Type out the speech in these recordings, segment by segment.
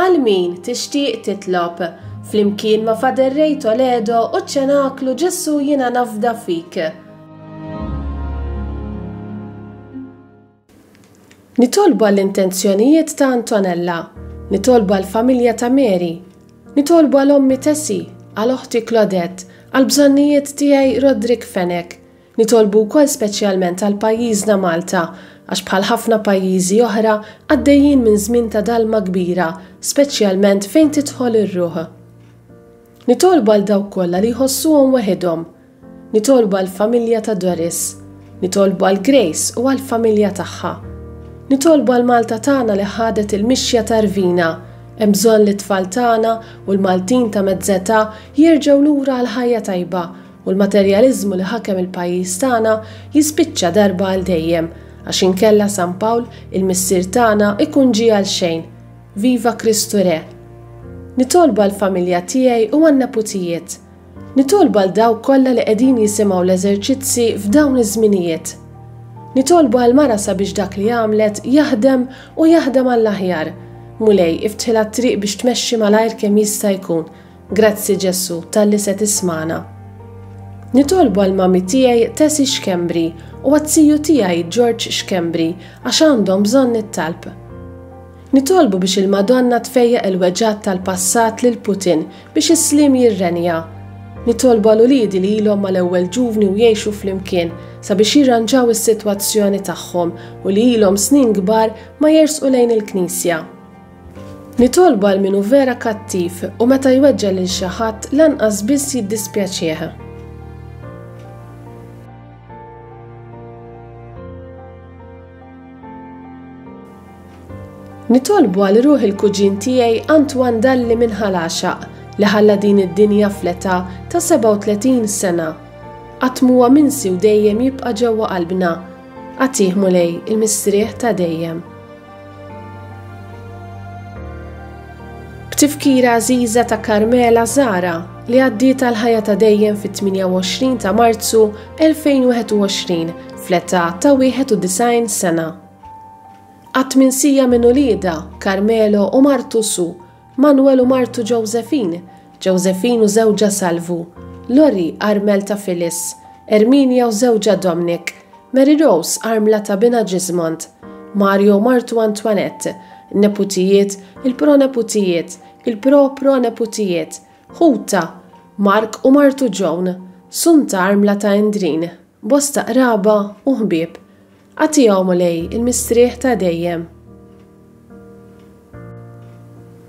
Għal min tixtieq titlob, flimkien ma' Father Ray Toledo u ċ-Ċenaklu Ġesù Jiena Nafda Fik. Nitolbu għall-intenzjonijiet ta' Antonella. Nitolbu għall-familja ta' Mary. Nitolbu għal ommi Tessie, għal oħti Claudette, għall-bżonnijiet tiegħi Roderick Fenech. Nitolbu wkoll speċjalment għal pajjiżna Malta, għax bħal ħafna pajjiżi oħra għaddejjin minn żmien ta' dalma kbira, speċjalment fejn tidħol ir-ruħ. Nitolbu għal dawk kollha li jħossuhom weħidhom. Nitolbu għall-familja ta' Doris. Nitolbu għal Grace u għall-familja tagħha. Nitolbu għal Malta tagħna li ħadet il-mixja ta' rvina. Hemm bżonn li t-tfal tagħna u l-Maltin ta' mezz'età jerġgħu lura għal ħajja tajba u l-materjaliżmu li ħakem il-pajjiż tagħna jispiċċa darba għal dejjem, għax inkella San Pawl, il-Missier tagħna, ikun ġie għalxejn. Viva Kristu Re! Nitolbu għall-familja tiegħi u għan-neputijiet. Nitolbu għal dawk kollha li qegħdin jisimgħu l-eżerċizzi f'dawn iż-żminijiet. Nitolbu għall-mara sabiex dak li għamlet jaħdem u jaħdem għall-aħjar. Mulej, iftħilha t-triq biex tmexxi malajr kemm jista' jkun Grazzi Ġesù talli se tismagħna. Nitolbu għall-mummy tiegħi Tessie Schembri u għaz-ziju tiegħi George Schembri għax għandhom bżonn it-talb. Nitolbu biex il-Madonna tfejjaq il-weġgħat tal-passat lil Putin biex is-sliem jirrenja. Nitolbu għal uliedi li ilhom mal-ewwel ġuvni u jgħixu flimkien sabiex jirranġaw is-sitwazzjoni tagħhom u li ilhom snin kbar ma jersqu lejn il-knisja. Nitolbu għal min hu vera kattiv u meta jweġġa' lil xi ħadd lanqas biss jiddispjaċih. Nitolbu għal ruħ il-kuġin tiegħi Antoine Dalli minn Ħal Għaxaq li ħalla din id-dinja fl-età ta' 37 sena. Qatt m'huwa minsi u dejjem jibqa' ġewwa qalbna. Agħtih Mulej il-mistrieħ ta' dejjem. B'tifkira għażiża ta' Carmela Zahra li għaddiet għall-ħajja ta' dejjem fit-28 ta' Marzu 2021 fl-età ta' 91 sena. Qatt minsija minn uliedha, Carmelo u martu Sue, Manuel u martu Josephine, Josephine u żewġha Salvu, Lori armel ta' Phyllis, Erminia u żewġha Dominic, Mary Rose armla ta' binha Gismond, Mario u martu Antoinette, in-neputijiet, il-proneputijiet, il-pro-proneputijiet, ħutha, Mark u martu Joan, Sunta armla ta' Endrin, bosta qraba u ħbieb. Agħtihom, Mulej, il-mistrieħ ta' dejjem.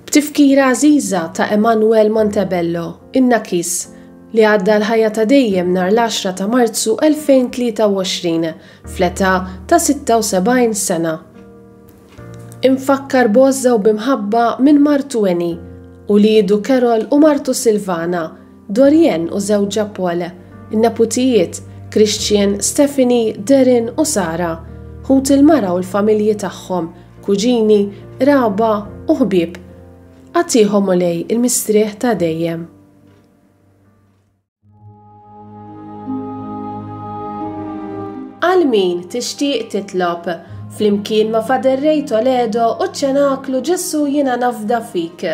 B'tifkira għażiża ta' Emanuel Montebello, in-Nakis, li għadda l-ħajja ta' dejjem nhar l-għaxra ta' Marzu 2023, fl-età ta' 76 sena. Imfakkar b'għożża u b'imħabba minn martu Annie, uliedu Carol u martu Silvana, Dorienne u żewġha Paul, in-neputijiet, Christian, Stephanie, Darren u Sarah, ħut il-mara u l-familji tagħhom, kuġini, qraba u ħbieb. Agħtihom Mulej il-mistrieħ ta' dejjem. Għal min tixtieq titlob, flimkien ma' Father Ray Toledo u ċ-Ċenaklu Ġesù Jiena Nafda Fik.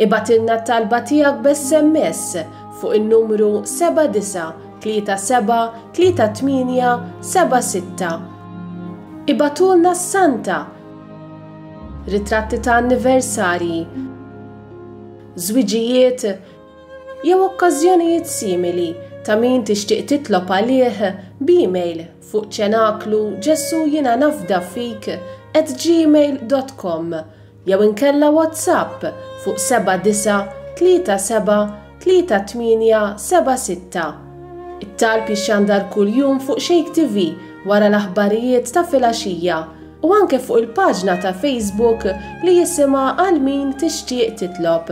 Ibgħatilna t-talba tiegħek b'SMS fuq in-numru 79373876. Ibgħatulna s-santa, ritratti ta' anniversarji, żwiġijiet jew okkażjonijiet simili ta' min tixtieq titlob għalih b'email fuq ċenaklu Ġesù jiena nafda fik at gmail dot com jew inkella WhatsApp fuq 79373876. It-talb jixxandar kuljum fuq Shake TV wara l-aħbarijiet ta' filgħaxija u anke fuq il-paġna ta' Facebook li jisimha Għal Min Tixtieq Titlob.